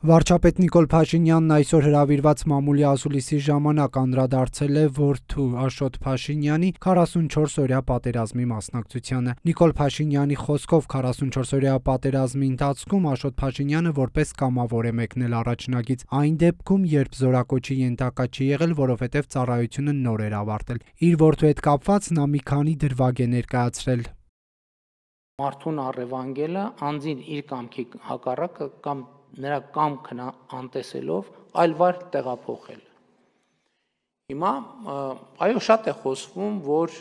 Վարչապետ Նիկոլ Փաշինյանն այսօր հրավիրված մամուլի ասուլիսի ժամանակ անդրադարձել է որդու Աշոտ Փաշինյանի 44-օրյա պատերազմի մասնակցությանը։ Նիկոլ Փաշինյանի խոսքով 44-օրյա պատերազմի ընթացքում Աշոտ Փաշինյանը որպես կամավոր է մեկնել առաջնագիծ, այն դեպքում, երբ զորակոչի ենթակա չի եղել, որովհետև ծառայությունը նոր էր ավարտել։ Իր որդու հետ կապված նա մի քանի դրվագ է ներկայացրել։ Մարդուն առևանգելը անձին իր կամքի հակառակը կամ նրա կամքն անտեսելով այլ վայր տեղափոխել։ Հիմա այո, շատ է խոսվում, որ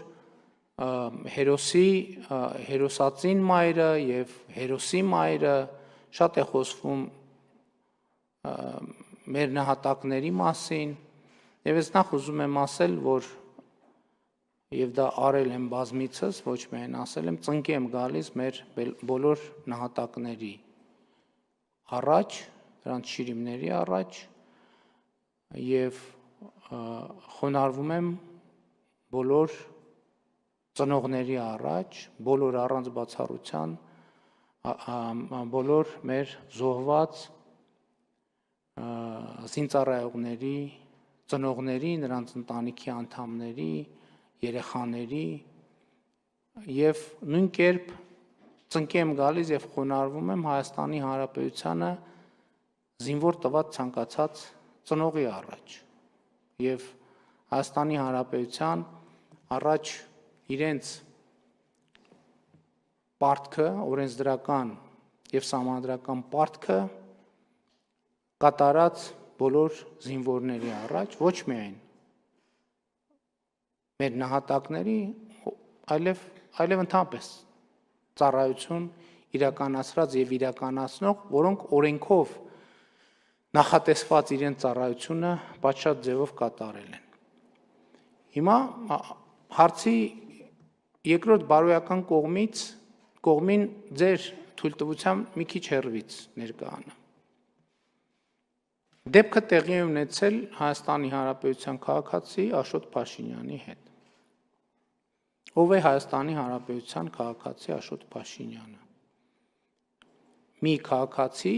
հերոսածին մայրը եւ հերոսի մայրը, շատ է խոսվում մեր նահատակների մասին, եւ ես նախ ուզում եմ ասել, որ եւ դա արել եմ բազմիցս, ոչ միայն ասել եմ, ծնկի եմ գալիս մեր բոլոր նահատակների առաջ, նրանց շիրիմների առաջ եւ խոնարհվում եմ բոլոր ծնողների առաջ, բոլոր առանց բացառության, բոլոր մեր զոհված զինծառայողների, ծնողների, նրանց ընտանիքի անդամների, երեխաների եւ նույն կերպ ծնկի եմ գալիս եւ խոնարհվում եմ Հայաստանի Հանրապետությանը զինվոր տված ցանկացած ծնողի առաջ եւ Հայաստանի Հանրապետության առաջ իրենց պարտքը, օրենսդրական եւ սահմանադրական պարտքը կատարած բոլոր զինվորների առաջ, ոչ միայն մեր նահատակների, այլև ընդհանրապես ծառայություն իրականացրած եւ իրականացնող, որոնք օրենքով նախատեսված իրենց ծառայությունը պատշաճ ձևով կատարել են։ Հիմա հարցի երկրորդ բարոյական կողմին ձեր թույլտվությամբ մի քիչ հեռվից ներկայանամ։ Դեպքը տեղի է ունեցել Հայաստանի Հանրապետության քաղաքացի Աշոտ Փաշինյանի հետ։ Ով է Հայաստանի Հանրապետության քաղաքացի Աշոտ Փաշինյանը։ Մի քաղաքացի,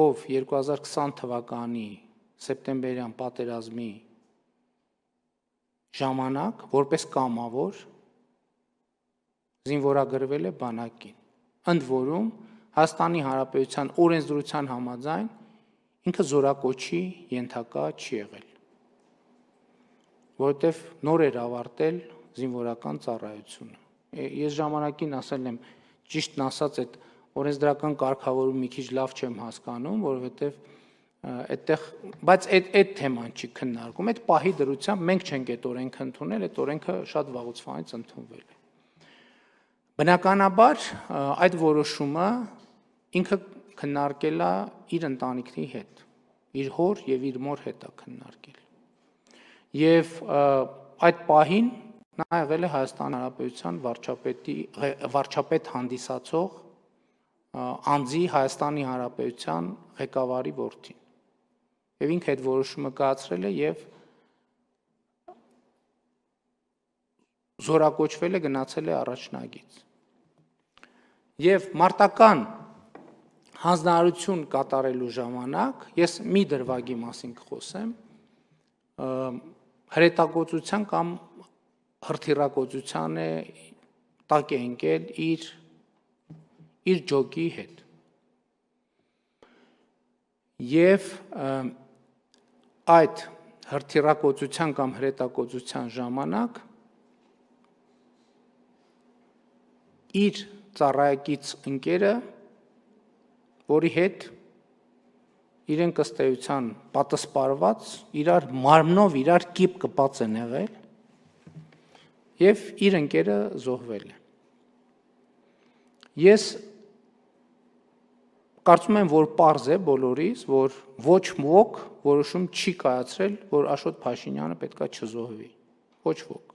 ով 2020 թվականի սեպտեմբերյան պատերազմի ժամանակ որպես կամավոր զինվորագրվել է բանակին։ Ընդ որում Հայաստանի Հանրապետության օրենսդրության համաձայն ինքը զորակոչի ենթակա չի եղել, որովհետև նոր էր ավարտել զինվորական ծառայությունը։ Ես ժամանակին ասել եմ, ճիշտն ասած, այդ օրենսդրական կարգավորումը մի քիչ լավ չեմ հասկանում, որովհետև բայց այդ թեման չի քննարկում, այդ պահի դրությամբ մենք չենք այդ օրենքը ընդունել, այդ օրենքը շատ վաղուց ընդունվել է։ Բնականաբար այդ որոշումը ինքը քննարկել է իր ընտանիքի հետ, իր հոր եւ իր մոր հետ է քննարկել։ Եվ այդ պահին նա եղել է Հայաստանի Հանրապետության վարչապետ հանդիսացող անձի Հայաստանի Հանրապետության ղեկավարի որդին։ Եվ ինքը այդ որոշումը կայացրել է եւ զորակոչվել է, գնացել է առաջնագիծ։ Եվ մարտական հանձնարարություն կատարելու ժամանակ ես մի դրվագի մասին կխոսեմ, հրետակոծության կամ հրթիռակոծության տակ է ընկել իր ջոկի հետ։ Եվ այդ հրթիռակոծության կամ հրետակոծության ժամանակ իր ծառայակից ընկերը, որի հետ իրենք ըստ էության պատասպարված, իրար մարմնով իրար կիպ կպած են եղել եւ իր ընկերը զոհվել է։ Ես կարծում եմ, որ պարզ է բոլորիս, որ ոչ ոք որոշում չի կայացրել, որ Աշոտ Փաշինյանը պետքա չզոհվի։ Ոչ ոք։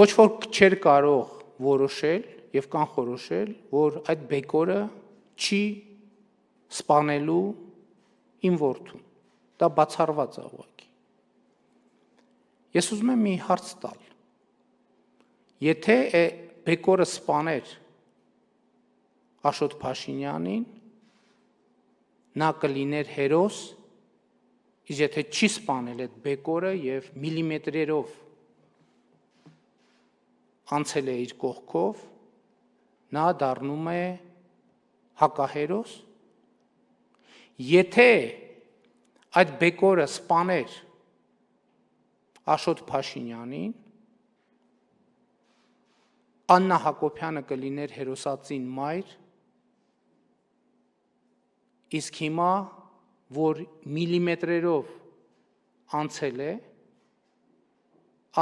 Ոչ ոք չէր կարող որոշել եւ կանխորոշել, որ այդ բեկորը չի սպանելու իմ որդուն։ Դա բացառված է ուղղակի։ Ես ուզում եմ մի հարց տալ։ Եթե բեկորը սպաներ Աշոտ Փաշինյանին, նա կլիներ հերոս, իսկ եթե չի սպանել այդ բեկորը եւ միլիմետրերով անցել է իր կողքով, նա դառնում է հակահերոս։ Եթե այդ բեկորը սպաներ Աշոտ Փաշինյանին, Աննա Հակոբյանը կլիներ հերոսածին մայր, իսկ հիմա, որ միլիմետրերով անցել է,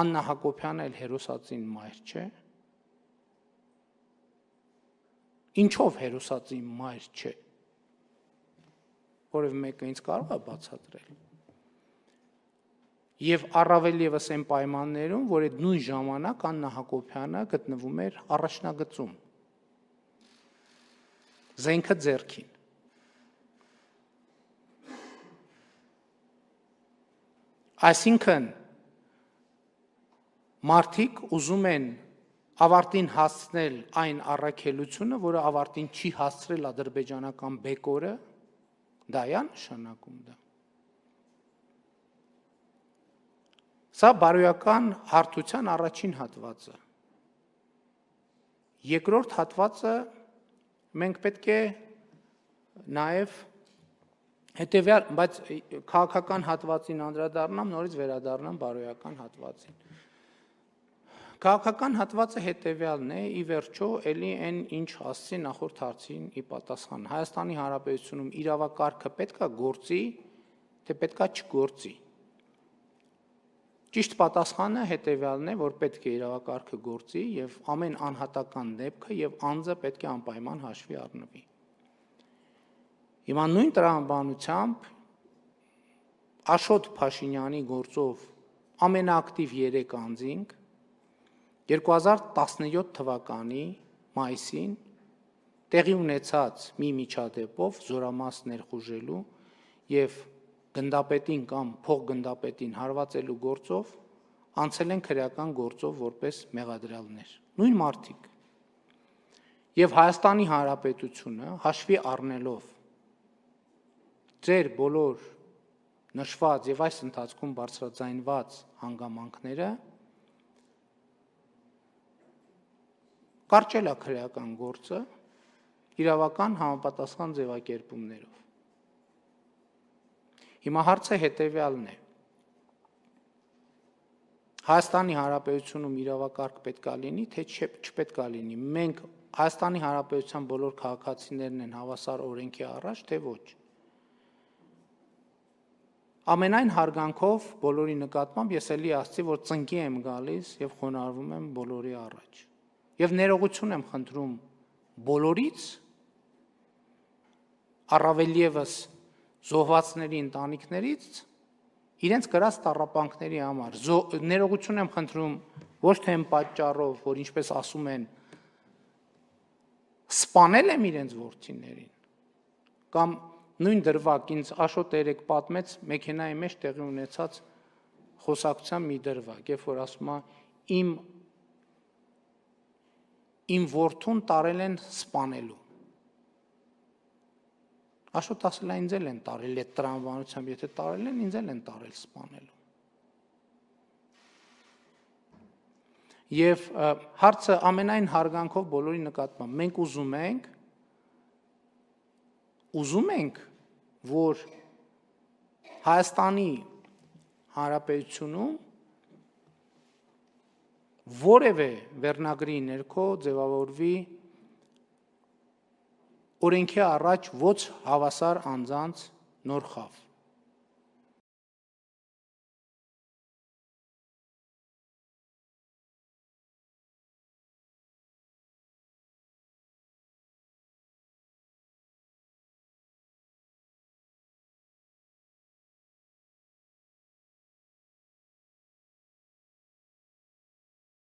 Աննա Հակոբյանը էլ հերոսածին մայր չէ։ Ինչով հերոսածին մայր չէ։ Որևէ մեկը ինձ կարող է բացատրել։ Եվ առավել ևս այն պայմաններում, որ այդ նույն ժամանակ Աննա Հակոբյանը գտնվում էր առաջնագծում, զենքը ձեռքին։ Այսինքն մարդիկ ուզում են ավարտին հասցնել այն առաքելությունը, որը ավարտին չի հասցրել ադրբեջանական բեկորը, դա է նշանակում դա։ Սա բարոյական հարթության առաջին հատվածը։ Երկրորդ հատվածը մենք պետք է նաև հետևյալ, բայց քաղաքական հատվածին անդրադառնամ, նորից վերադառնամ բարոյական հատվածին։ Քաղաքական հատվածը հետևյալն է, ի վերջո, էլի այն ինչ ասացի նախորդ հարցին ի պատասխան։ Հայաստանի Հանրապետությունում իրավակարգը պետք է գործի, թե պետք է չգործի։ Ճիշտ պատասխանը հետևյալն է, որ պետք է իրավակարգը գործի եւ ամեն անհատական դեպքը եւ անձը պետք է անպայման հաշվի առնվի։ Հիմա նույն տրամաբանությամբ Աշոտ Փաշինյանի գործով ամենաակտիվ 3 անձինք 2017 թվականի մայիսին տեղի ունեցած մի միջադեպով զորամաս ներխուժելու եւ գնդապետին կամ փոխգնդապետին հարվածելու գործով անցել են քրեական գործով որպես մեղադրյալներ։ Նույն մարդիկ։ Եվ Հայաստանի Հանրապետությունը հաշվի առնելով ձեր բոլոր նշված եւ այս ընթացքում բարձրաձայնված հանգամանքները կարճել է քրեական գործը իրավական համապատասխան ձևակերպումներով։ Հիմա հարցը հետևյալն է. Հայաստանի Հանրապետությունում իրավակարգ պետքա լինի, թե չպետքա լինի։ Մենք Հայաստանի Հանրապետության բոլոր քաղաքացիներն են հավասար օրենքի առաջ, թե ոչ։ Ամենայն հարգանքով բոլորի նկատմամբ ես էլի ասացի, որ ծնկի եմ գալիս եւ խոնարհվում եմ բոլորի առաջ։ Եվ ներողություն եմ խնդրում բոլորից, առավել ևս զոհվածների ընտանիքներից, իրենց կրած տառապանքների համար։ Ներողություն եմ խնդրում ոչ թե այն պատճառով, որ ինչպես ասում են, սպանել եմ իրենց որդիներին, կամ նույն դրվագ ինձ Աշոտ երեք պատմեց մեքենայի մեջ տեղի ունեցած խոսակցության մի դրվագ, երբ որ ասում է իմ որդուն տարել են սպանելու։ Աշոտ ասել է ինձ էլ են տարել այդ տրամաբանությամբ, եթե տարել են, ինձ էլ են տարել սպանելու։ Եվ հարցը ամենայն հարգանքով բոլորի նկատմամբ, մենք ուզում ենք, որ Հայաստանի Հանրապետությունում որևէ վերնագրի ներքո ձևավորվի օրենքի առաջ ոչ հավասար անձանց նոր խավ։